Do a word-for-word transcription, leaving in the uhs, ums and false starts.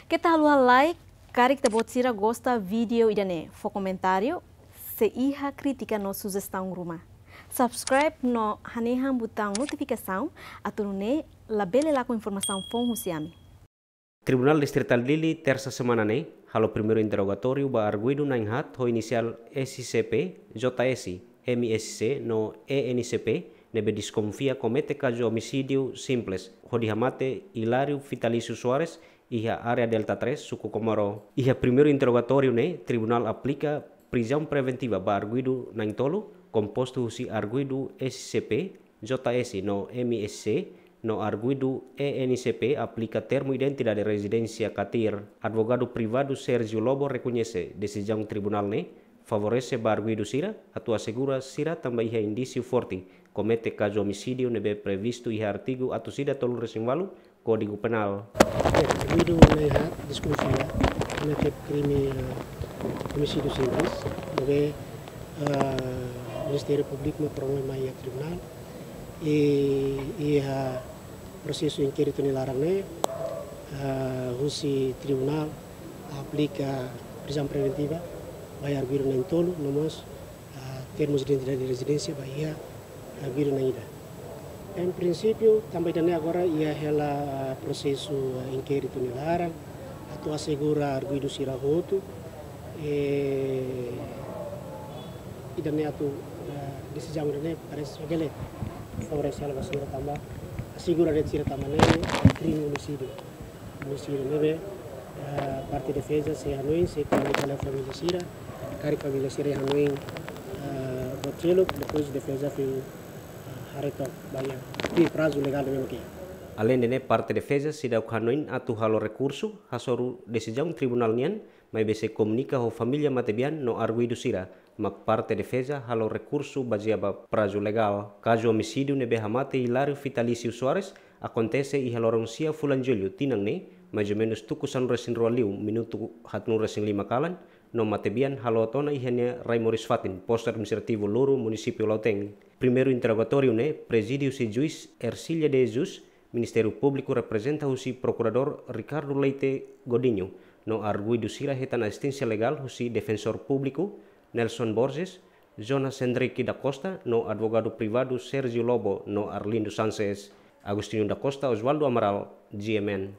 Keta haluha like, karik ita-boot sira gosta vídeo ida-ne'e, fó komentáriu, se iha krítika no sujestaun ruma. Subscribe no hanehan butaun notifikasaun, atu nune'e labele lakon informasaun foun husi ami. Tribunál Distritál Dili, tersa semana ne'e, halo primeiru interrogatóriu ba arguidu na'in haat ho inisiál S C P, J S, M S C no E N C P, ne'ebé deskonfia komete kazu omisídiu simples, hodi hamate Hilário Fitalício Soares, iha área Delta três, suku Comoro. Iha primeiru interrogatóriu ne'e, tribunál aplika prizaun preventiva ba arguidu na'in tolu, kompostu husi arguidu S C P, J S no M S C, no arguidu E N C P aplika termu identidade rezidénsia katir. Advogadu privadu Sérgio Lobo rekoñese desizaun tribunál ne'e favorese ba arguidu sira, atu asegura sira tanba iha indísiu forte komete kazu omisídiu ne'ebé previstu iha artigu atus ida tolunulu-resin-ualu Kódigu Penál. Oke, arguidu na'in haat deskonfia komete krime, eh, omisídiu simples, ne'ebé, eh, Ministériu Públiku mak promove mai iha tribunál. I, iha prosesu inkéritu nia laran ne'e, eh, husi tribunál aplika prizaun preventiva ba arguidu na'in tolu, no mós, ah, termus identidade rezidénsia ba iha arguidu na'in ida. Em prinsípiu, tanba ida-ne'e agora iha hela, ah, prosesu, ah, inkéritu nia laran, atu asegura arguidu sira hotu, eh, ida-ne'e atu, ah, desizaun ida-ne'e parese bele favorese hela ba sira tanba asegura de'it sira tanba ne'e krime omisídiu. Omisídiu ne'ebé, eh, parte defeza sei hanoin, sei komunika ba família sira, karik família sira hanoin, eh, buat seluk, depois defeza fil, eh, haree took ba iha, tuir prazu legál ne'ebé mak iha. Aleinde ne'e, parte defeza seidauk hanoin atu halo rekursu hasoru desizaun tribunál nian, maibé sei komunika ho família matebian no arguidu sira, mak parte defeza halo rekursu bazeia ba prazu legál. Kazu omisídiu ne'ebé hamate Hilário Fitalício Soares akontese iha loron sia fulan Jullu tinan ne'e, mais ou menus tuku sanulu-resin-rua liu minutu haatnulu-resin-lima kalan, no matebian haloot ona iha nia rai moris fatin, Postu Administrativu Luru, Munisípiu Lautém. Primeiru interrogatóriu ne'e prezide husi juís Ercília de Jesus, Ministériu Públiku reprezenta husi Prokuradór Ricardo Leite Godinho, no arguidu sira hetan asisténsia legál husi Defensór Públiku Nelson Borges, Jonas Henrique da Costa, no advogadu privadu Sérgio Lobo no Arlindo Sanches. Agostinho da Costa, Oswaldo Amaral, G M N.